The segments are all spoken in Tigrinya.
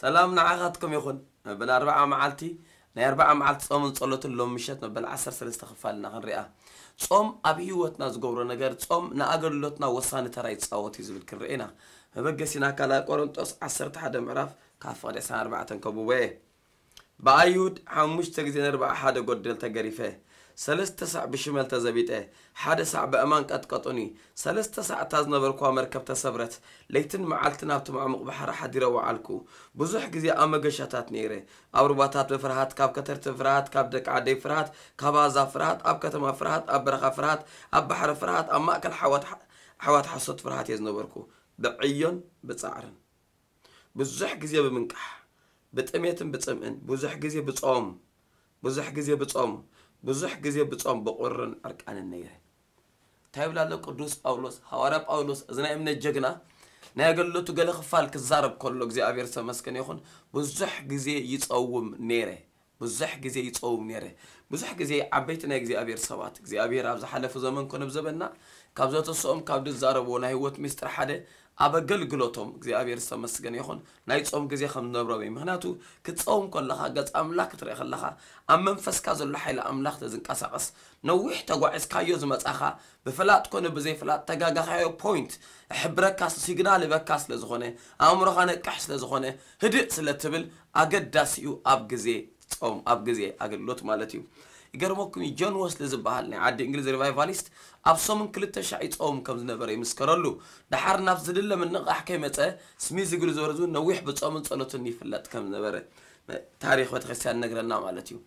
ሰላም ንዓኻትኩም ይኹን። መበል ኣርብዓ መዓልቲ ናይ ኣርብዓ መዓልቲ ጾምን ጸሎትን ሎም ምሸት መበል ዓሰርተ ሰለስተ ክፋልና ክንሪኣ። ጾም ኣብ ህይወትና ዝገብሮ ነገር፣ ጾም ንኣገልግሎትና ወሳኒ ተራ ይጻወት እዩ ዝብል ክንርኢ ኢና። መበገሲና ካልኣይ ቆሮንጦስ ዓሰርተ ሓደ ምዕራፍ ካብ ፍቕዲ ዕስራን ኣርባዕተን ከብቦ እየ። ብኣይሁድ ሓሙሽተ ግዜ ነርብዓ ሓደ ጎደል ተገሪፈ፣ ሰለስተ ሳዕ ብሽመል ተዘቢጠ፣ ሓደ ሳዕ በእማን ቀጥቀጡኒ፣ ሰለስተ ሳዕ እታ ዝነበርኩዋ መርከብ ተሰብረት፣ ለይትን መዓልትን ኣብቲ ማዕሙቕ ባሕሪ ሓዲረ ወዓልኩ። ብዙሕ ግዜ ኣብ መገሻታት ነይረ፣ ኣብ ሩባታት ብፍርሃት፣ ካብ ከተርቲ ፍርሃት፣ ካብ ደቂ ዓደይ ፍርሃት፣ ካብ ኣህዛብ ፍርሃት፣ ኣብ ከተማ ፍርሃት፣ ኣብ በረኻ ፍርሃት፣ ኣብ ባሕሪ ፍርሃት፣ ኣብ ማእከል ሓዋት ኣሕዋት ሓሶት ፍርሃት እየ ዝነበርኩ፣ ብዕዮን ብጻዕርን። ብዙሕ ግዜ ብምንቃሕ፣ ብጥሜትን ብጽምእን፣ ብዙሕ ግዜ ብጾም፣ ብዙሕ ግዜ ብጾም፣ ብዙሕ ግዜ ብጾም ብቑርን ዕርቃንን ነይረ። እንታይ ይብል ኣሎ ቅዱስ ጳውሎስ? ሃዋርያ ጳውሎስ፣ እዚ ናይ እምነት ጀግና፣ ናይ ኣገልግሎቱ ገለ ክፋል ክዛረብ ከሎ፣ እግዚኣብሔር ዝተመስገነ ይኹን፣ ብዙሕ ግዜ ይጸውም ነይረ። ብዙሕ ግዜ ይጸውም ነይረ። ብዙሕ ግዜ ዓበይቲ ናይ እግዚኣብሔር ሰባት፣ እግዚኣብሔር ኣብ ዝሓለፉ ዘመን ኮነ ኣብ ዘበንና፣ ካብ ዘተስኦም፣ ካብ ዝዛረብዎ ናይ ህይወት ምስጢር ሓደ፣ ኣብ ኣገልግሎቶም እግዚኣብሔር ዝተመስገነ ይኹን፣ ናይ ጾም ግዜ ከም ዝነብሮም እዩ። ምኽንያቱ፣ ክትጸውም ከለኻ፣ ገጽ ኣምላኽ ክትርኢ ከለኻ፣ ኣብ መንፈስካ ዘሎ ሓይሊ ኣምላኽ ተዝንቀሳቐስ፣ ነዊሕ ተጓዒዝካዮ ዝመጻኻ፣ ብፍላጥ ኮነ ብዘይፍላጥ ተጋጋኻዮ ፖይንት፣ እሕብረካ፣ ሲግናል ህበካ ስለ ዝኾነ፣ ኣእምሮኻ ነቅሕ ስለ ዝኾነ፣ ህድእ ስለ ትብል፣ ኣገዳሲ እዩ ኣብ ግዜ ጾም፣ ኣብ ግዜ ኣገልግሎት ማለት እዩ። ይገርመኩም እዩ፣ ጆን ወስሊ ዝበሃል ናይ ዓዲ እንግሊዝ ሪቫይቫሊስት ኣብ ሰሙን ክልተ ሻዕ ይጸውም ከም ዝነበረ ይምስከረሉ። ደሓር ናብ ዝድለ ምንቕቓሕ ከይመጸ፣ ስሚዝ እግሪ ዝበረዙ ነዊሕ ብጾምን ጸሎትን ይፍለጥ ከም ዝነበረ ታሪኽ ቤተክርስትያን ነግረና ማለት እዩ።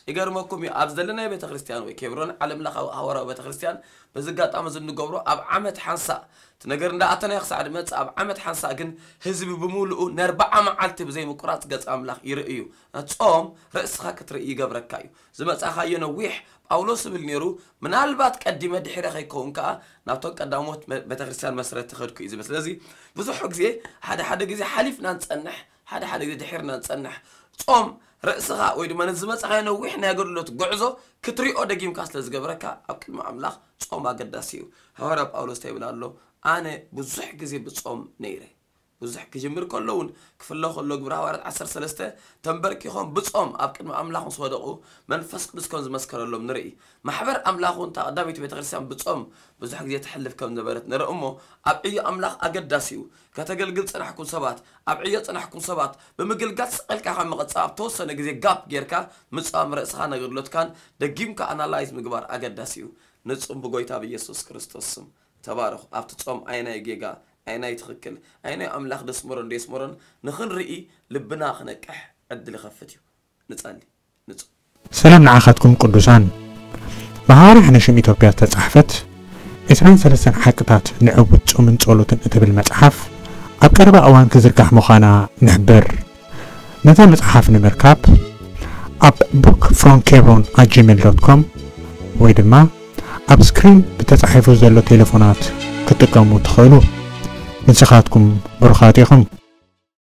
ይገርመኩም እዩ፣ ኣብ ዘለናይ ቤተክርስትያን ወይ ኬብሮን ዓለም ለኻዊ ሃዋርያዊ ቤተክርስትያን በዚ ኣጋጣሚ እዚ እንገብሮ ኣብ ዓመት ሓንሳእ እቲ ነገር እንዳኣተናዮ ክሳዕ ድመጽእ ኣብ ዓመት ሓንሳእ ግን ህዝቢ ብምሉኡ ነርብዓ መዓልቲ ብዘይ ምቁራጽ ገጽ ኣምላኽ ይርኢ እዩ። ጾም ርእስኻ ክትርኢ ይገብረካ እዩ። ዝመጻኻዮ ነዊሕ ጳውሎስ ዝብል ነይሩ፣ ምናልባት ቀዲመ ድሒረ ከይከውን ከኣ ናብቶም ቀዳሞት መ-፣ ቤተክርስትያን መስረቲ ከድኩ እዩ ዝብል። ስለዚ ብዙሕ ግዜ ሓደ ሓደ ግዜ ሓሊፍና ንጸንሕ፣ ሓደ ሓደ ግዜ ድሒርና ንጸንሕ። ጾም ርእስኻ ወይ ድማ ነዚ ዝመጻኻዮ ነዊሕ ናይ ኣገልግሎት ጉዕዞ ክትሪኦ ደጊምካ ስለ ዝገብረካ ኣብ ቅድሚ ኣምላኽ ጾም ኣገዳሲ እዩ። ሃዋርያ ጳውሎስ እንታይ ይብል ኣሎ? ኣነ ብዙሕ ግዜ ብጾም ነይረ። ብዙሕ ክጅምር ከሎ እውን ክፍለ ከሎ ግብረ ሃዋርያት ዓሰርተ ሰለስተ ተንበርኪኾም ብጾም ኣብ ቅድሚ ኣምላኽ ምስ ወደቑ መንፈስ ቅዱስ ከም ዝመስከረሎም ንርኢ። ማሕበር ኣምላኽ እውን እታ ቀዳመይቲ ቤተክርስትያን ብጾም ብዙሕ ግዜ ተሕልፍ ከም ዝነበረት ንርኢ እሞ ኣብ ዕዮ ኣምላኽ ኣገዳሲ እዩ። ከተገልግል ጽናሕኩም ሰባት፣ ኣብ ዕዮ ጽናሕኩም ሰባት፣ ብምግልጋል ስቕ ኢልካ ካብ ምቕጻል ኣብ ተወሰነ ግዜ ጋፕ ጌርካ ምጻም ርእስኻ ነገልግሎትካን ደጊምካ ኣናላይዝ ምግባር ኣገዳሲ እዩ። ንጹም ብጎይታ ብኢየሱስ ክርስቶስ ስም ተባረኹ። ኣብቲ ጾም ኣየናይ ጌጋ፣ ኣየናይ ትኽክል፣ ኣየናይ ኣምላኽ ደስመሮን ደየስመሮን ንኽንርኢ ልብና ክነቅሕ ዕድል ይኸፍት እዩ። ንጸሊ፣ ንጹም። ሰላም ንዓኻትኩም ቅዱሳን። ብሃዋርያ ሕነ ሽም ኢትዮጵያ ዝተጻሕፈት ዕስራን ሰለስተን ሓቅታት ንዕዉት ጾምን ጸሎትን እትብል መጽሓፍ ኣብ ቀረባ እዋን ክዝርጋሕ ምዃና ንሕብር። ነዛ መጽሓፍ ንምርካብ ኣብ book from kebron at gmail dot com ወይ ድማ ኣብ ስክሪን ብተጻሒፉ ዘሎ ቴሌፎናት ክትጥቀሙ ትኽእሉ። ንስኻትኩም ብሩኻት ኢኹም።